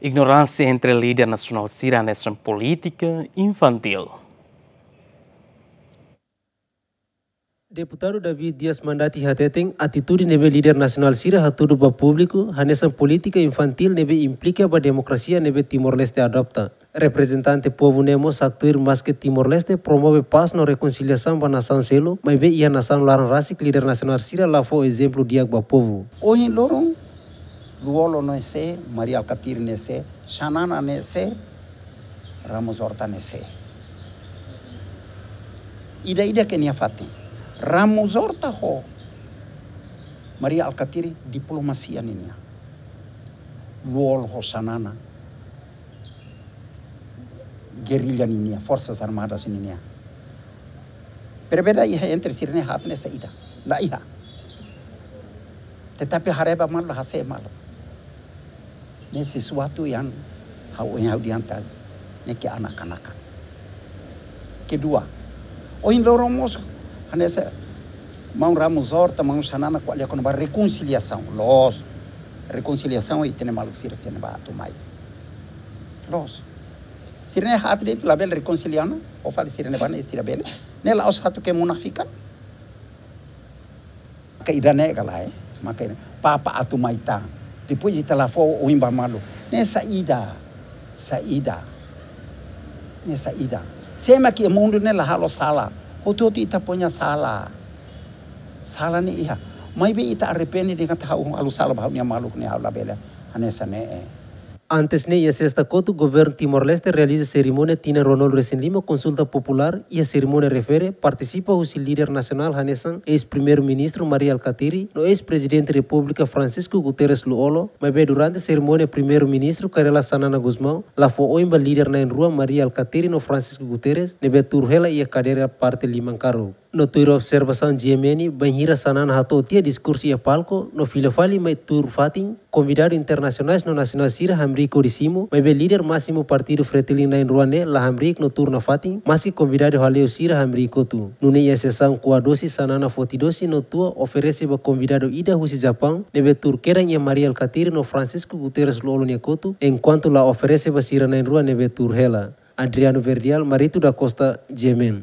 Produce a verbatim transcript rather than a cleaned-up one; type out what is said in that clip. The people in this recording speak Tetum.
Ignoránsia entre líder nasionál sira hanesan polítika infantíl. Deputadu David Dias Mandati hateten, atitude ne'ebé líder nasionál sira hatudu ba públiku hanesan polítika infantíl ne'ebé implika ba demokrasia ne'ebé Timor-Leste adopta. Reprezentante povu ne'e mós haktuir maske Timor-Leste promove pás no rekonsiliasaun ba nasaun seluk, maibé iha nasaun laran rasik líder nasionál sira la fó ezemplu di'ak ba povu. Ohin loron, Lú-Olo ne'e sé, Mari Alkatiri ne'e sé, Xanana ne'e sé, Ramos Horta ne'e sé. Ida-idak nia fatin. Ramos Horta ho Mari Alkatiri diplomasia ninian. Lú-Olo ho Xanana gerrilla ninian, Forsas Armadas ninian. Berbeda iha entre sira-ne'e haat ne'e saida? La iha. Tetapi haree ba malu, hase'e malu. Ne'e sesuatu yang ha'u, yang ha'u dianta ne'e ke anak-anak. Kedua, ohin loron mós hanesan maun Ramos Horta, maun Xanana ko'alia kona-ba rekonsiliasaun. Loos. Rekonsiliasaun ita-nia maluk sira sira-ne'ebá atu mai. Loos. Sira-ne'e haat de'it labele rekonsilia ona, ou fali sira-ne'ebá ne'e sira bele. Ne'e la'ós atu ke munafikan. Maka ida-ne'e ka lae, maka ida-ne'e. Papa atu mai tan. Depois ita la fó oin ba malu. Ne'e saida, saida. Ne'e saida. Sé mak iha mundu ne'e la halo sala. Hotu-hotu ita punya sala. Sala ne'e iha. Maibé ita arrepende dehan katak ha'u halo sala ba ha'u-nia maluk ne'e, ha'u labele hanesan ne'e. Antes ne'e, iha Sesta kotuk, Governu Timor-Leste realiza serimónia tinan ruanulu-resin-lima konsulta populár. Iha serimónia refere, partisipa husi líder nasionál hanesan eis-Primeiru-Ministru Mari Alkatiri no eis-Prezidente Repúblika Francisco Guterres Lú-Olo, maibé durante serimónia Primeiru-Ministru Kay Rala Xanana Gusmão la fó oin ba líder na'in-rua Mari Alkatiri no Francisco Guterres ne'ebé tuur hela iha kadeira parte liman karuk. No tuir observasaun G M N, bainhira Xanana hato'o tiha diskursu iha palku, no fila fali mai tuur fatin, konvidadu internasionais no nasionál sira hamriik hodi simu, maibé líder másimu partidu Fretilin na'in-rua ne'e la hamriik no tuur nafatin, maski konvidadu hale'u sira hamriik hotu. Nune'e iha sesaun kuadosi, Xanana foti dosi no tua oferese ba konvidadu ida husi Japaun, ne'ebé tuur kedan iha Mari Alkatiri no Francisco Guterres Lú-Olo nia kotuk, enkuantu la oferese ba sira na'in-rua ne'ebé tuur hela. Adriano Verdial, Marito da Costa, G M N.